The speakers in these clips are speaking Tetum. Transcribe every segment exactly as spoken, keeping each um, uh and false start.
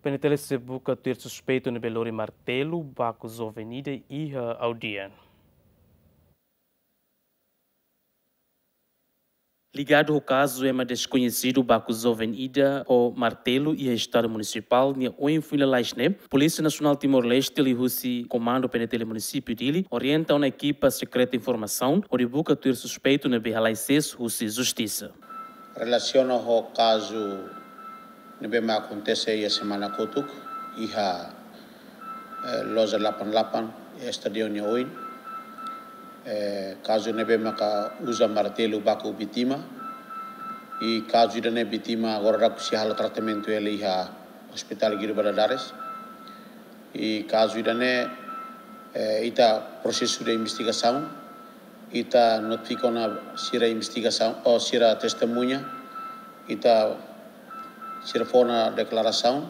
PNTL sei buka tuir suspeitu ne'ebé lori martelu baku joven ida iha aldeia. Ligadu ho kazu ema deskoñesidu baku joven ida ho martelu iha Estádiu Munisipál nia oin foin lalais ne'e, Polísia Nasionál Timor-Leste liuhusi Komandu PNTL Munisípiu Dili orienta ona ekipa sekreta informasaun hodi buka tuir suspeitu ne'ebé halai sees husi justisa. Relasiona ho kazu ne'ebé mak akontese iha semana kotuk iha, eh, loja delapan delapan, eh, estádiu nia oin. Eh, kazu ne'ebé maka uza martelu baku vítima. I kazu ida-ne'e vítima agora daudaun sei halo tratamentu hela iha Hospital Guido Valadares. I kazu ida-ne'e, eh, ita prosesu de investigasaun, ita notifika ona sira investigasaun, ou sira testemuña, ita sira fó ona deklarasaun,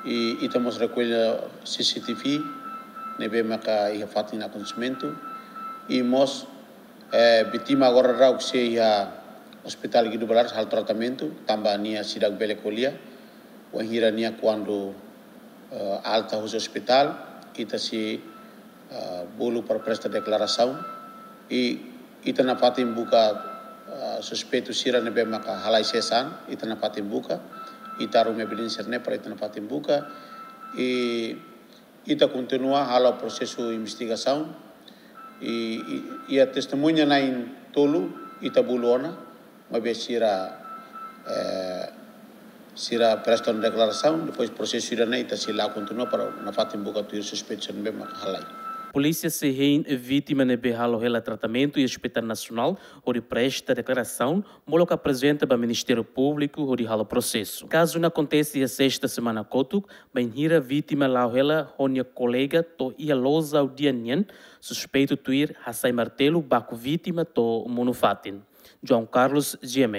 i ita mós rekolla CCTV ne'ebé maka iha fatin akontesimentu, i mós, eh, vítima agora daudaun sei iha Hospital Guido Valadares halo tratamentu, tanba nia seidauk bele ko'alia, wainhira nia kuandu, eh, alta husi ospitál, ita sei, eh, bolu para presta deklarasaun, i ita nafatin buka, eh, suspeitu sira ne'ebé maka halai sees an, ita nafatin buka, ita haruka evidénsia ne'e para ita nafatin buka, i ita kontinua halo prosesu investigasaun, i, i, iha testemuña na'in tolu ita bolu ona, maibé sira, eh, sira presta ona deklarasaun, depois prosesu ida-ne'e ita sei la'o kontinua para nafatin buka tuir suspeitu sira ne'ebé maka halai. Polísia sei hein vítima ne'ebé halo hela tratamentu iha Hospital Nasionál hodi presta deklarasaun, molok aprezenta ba Ministériu Públiku hodi halo prosesu. Kazu ne'e akontese iha sesta semana kotuk, bainhira vítima la'o hela ho nia kolega to'o iha loja aldeia nian, suspeitu tuir hasai martelu baku vítima to'o monu fatin. João Carlos, GMN.